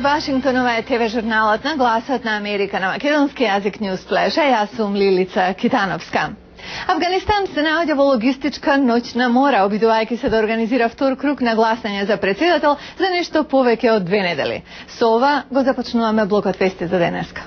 од Вашингтонова е ТВ журналот на Гласот на Америка на македонски јазик Newsflash, а јас сум Лилица Китановска. Афганистан се наоѓа во логистичка ноќна мора, обидувајќи се да организира втор круг на гласање за претседател за нешто повеќе од 2 недели. Со ова го започнуваме блокот вести за денеска.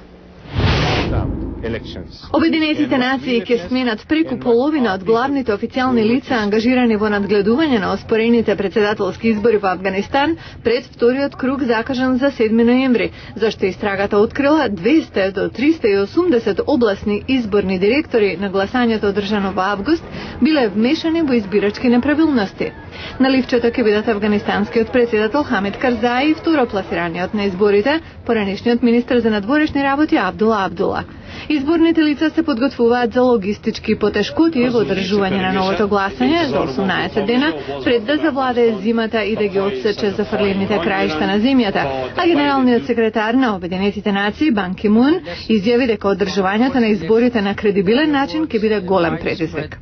Обединетите нации ќе сменат преку половина од главните официјални лица ангажирани во надгледување на оспорените претседателски избори во Афганистан пред вториот круг закажан за 7 ноември, зашто истрагата открила 200 до 380 областни изборни директори на гласањето одржано во август биле вмешани во избирачки неправилности. На ливчето ќе бидат афганистанскиот претседател Хамид Карзаи и второпласираниот на изборите, поранешниот министер за надворешни работи Абдула Абдула. Изборните лица се подготвуваат за логистички потешкоти во одржување на новото гласање за 18 дена пред да завладее зимата и да ги отсече зафрлените краишта на земјата, а генералниот секретар на Обединетите нации Бан Ки Мун изјави дека одржувањето на изборите на кредибилен начин ќе биде голем предизвик.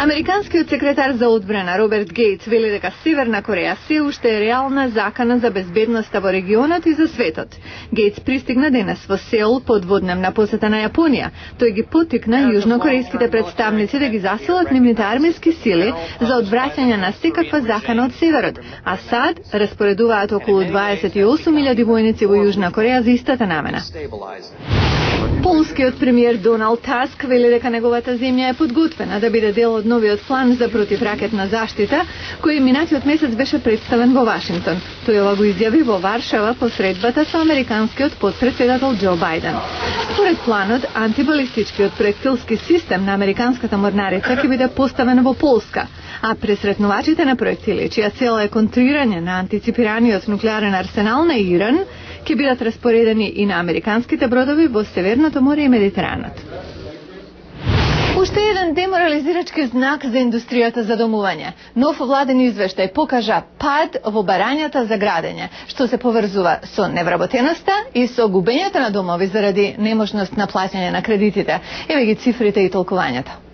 Американскиот секретар за одбрана Роберт Гейтс вели дека Северна Кореја се уште е реална закана за безбедноста во регионот и за светот. Гейтс пристигна денес во Сеул под водневна посета на Јапонија. Тој ги поттикна јужнокорејските представници да ги засилат нивните армиски сили за одвраќање на секаква закана од северот, а САД распоредуваат околу 28.000 војници во Јужна Кореја за истата намена. Полскиот премиер Доналд Таск вели дека неговата земја е подготвена да биде дел од новиот план за противракетна заштита, кој минатиот месец беше представен во Вашингтон. Тој ова го изјави во Варшава по средбата со американскиот потпредседател Џо Бајден. Според планот, антибалистичкиот проектилски систем на американската морнарица ќе биде поставен во Полска, а пресретнувачите на проектили, чија цел е контрирање на антиципираниот нуклеарен арсенал на Иран, ќе бидат распоредени и на американските бродови во Северното море и Медитеранот. Уште еден деморализирачки знак за индустријата за домување. Нов владен извештај покажа пад во барањата за градење, што се поврзува со невработеноста и со губењето на домови заради неможност на плаќање на кредитите. Еве ги цифрите и толкувањето.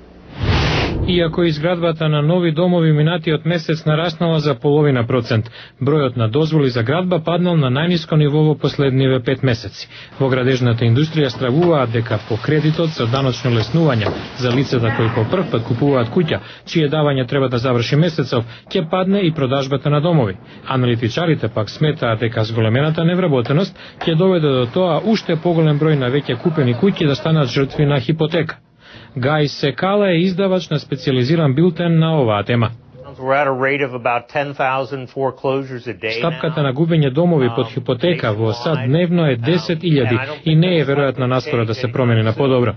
Иако изградбата на нови домови минатиот месец нараснала за 0,5%, бројот на дозволи за градба паднал на најниско ниво во последниве 5 месеци. Во градежната индустрија стравуваат дека по кредитот за даночно леснување за лицата кои по прв пат купуваат куќа, чие давање треба да заврши месецов, ќе падне и продажбата на домови. Аналитичарите пак сметаат дека зголемената невработеност ќе доведе до тоа уште поголем број на веќе купени куќи да станат жртви на хипотека. Гај Секала е издавач на специализиран билтен на оваа тема. Стапката на губење домови под хипотека во САД дневно е 10.000 и не е веројатно наскоро да се промени на подобро.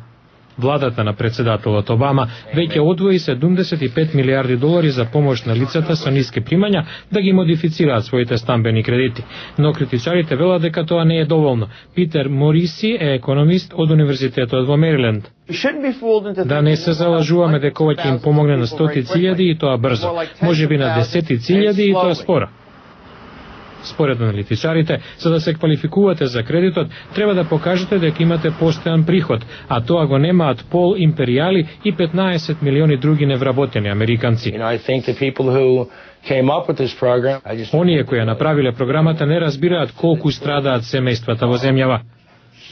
Владата на председателот Обама веќе одвои $75 милиарди за помош на лицата со ниски примања да ги модифицираат своите стамбени кредити. Но критичарите велат дека тоа не е доволно. Питер Мориси е економист од Универзитетот во Мериленд. Да не се залажуваме дека ова ќе им помогне на 100.000 и тоа брзо, можеби на 10.000 и тоа спора. Според аналитичарите, за да се квалификувате за кредитот, треба да покажете дека имате постојан приход, а тоа го немаат Пол Империјали и 15 милиони други невработени американци. Оние кои ја направиле програмата не разбираат колку страдаат семејствата во земјава.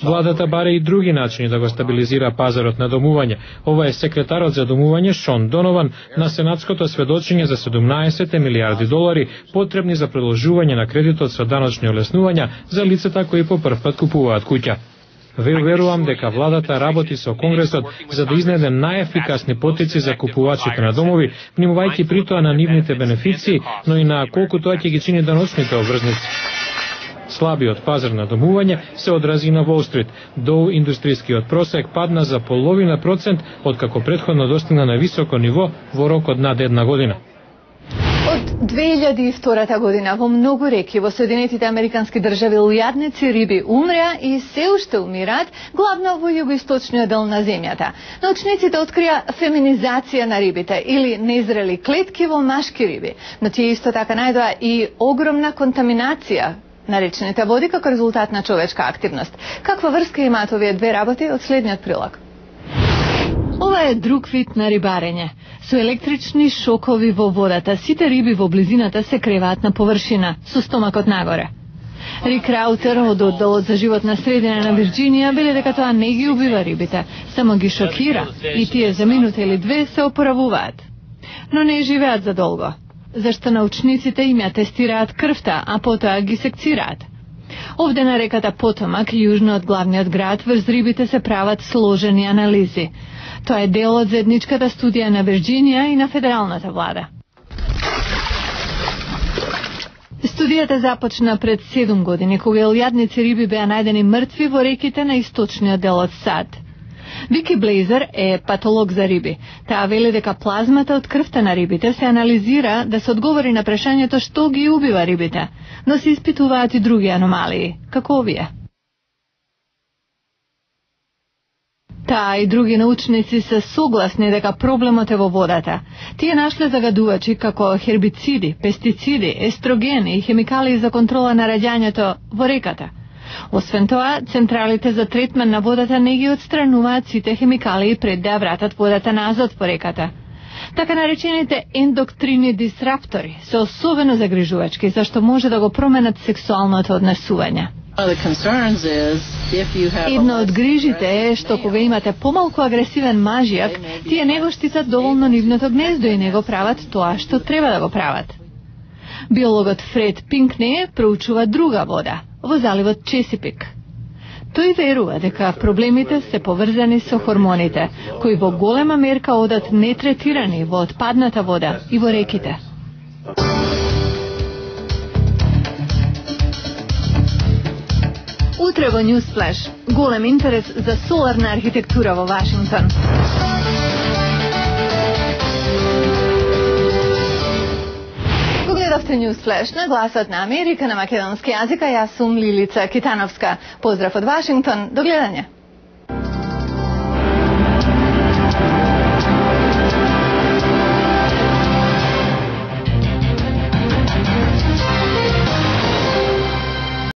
Владата баре и други начини да го стабилизира пазарот на домување. Ова е секретарот за домување Шон Донован на сенатското сведочење за $17 милиарди потребни за продолжување на кредитот со даночни олеснувања за лицата кои по прв пат купуваат куќа. Верувам дека владата работи со Конгресот за да изнеде најефикасни потици за купувачите на домови, внимувајќи при тоа на нивните бенефиции, но и на колку тоа ќе ги чини даночните обврзници. Слабиот пазар на домување се одрази на Wall Street. Доу индустријскиот просек падна за 0,5% откако претходно достигна на високо ниво во рок од над една година. Од 2002 година во многу реки во Соединетите Американски држави лујадници риби умреа и се уште умираат, главно во југоисточниот дел на земјата. Научниците открија феминизација на рибите или незрели клетки во машки риби, но тие исто така најдоа и огромна контаминација на речните води како резултат на човечка активност. Каква врска имаат овие две работи од следниот прилог? Ова е друг вид на рибарење. Со електрични шокови во водата, сите риби во близината се креваат на површина, со стомакот нагоре. Рик Раутер од одделот за животна средина на Вирџинија веле дека тоа не ги убива рибите, само ги шокира и тие за минута или две се опоравуваат. Но не живеат задолго, зашто научниците им ја тестираат крвта, а потоа ги секцираат. Овде на реката Потомак, јужно од главниот град, врз рибите се прават сложени анализи. Тоа е дел од заедничката студија на Вирџинија и на федералната влада. Студијата започна пред 7 години, кога илјадници риби беа најдени мртви во реките на источниот дел од САД. Вики Блейзер е патолог за риби. Таа вели дека плазмата од крвта на рибите се анализира да се одговори на прашањето што ги убива рибите, но се испитуваат и други аномалии, како овие. Таа и други научници се согласни дека проблемот е во водата. Тие нашле загадувачи како хербициди, пестициди, естрогени и хемикалии за контрола на раѓањето во реката. Освен тоа, централите за третман на водата не ги отстрануваат сите хемикалии пред да вратат водата назад по реката. Така наречените ендоктрини дисраптори се особено загрижувачки, зашто може да го променат сексуалното однесување. Едно од грижите е што кога имате помалку агресивен мажјак, тие не го штитат доволно нивното гнездо и не го прават тоа што треба да го прават. Биологот Фред Пинкне проучува друга вода, во заливот Чесипик. Тој верува дека проблемите се поврзани со хормоните, кои во голема мерка одат нетретирани во отпадната вода и во реките. Утре во Newsflash, голем интерес за соларна архитектура во Вашингтон. Го гледавте Newsflash на Гласот на Америка на македонски јазик, а јас сум Лилица Китановска. Поздрав од Вашингтон, до гледање.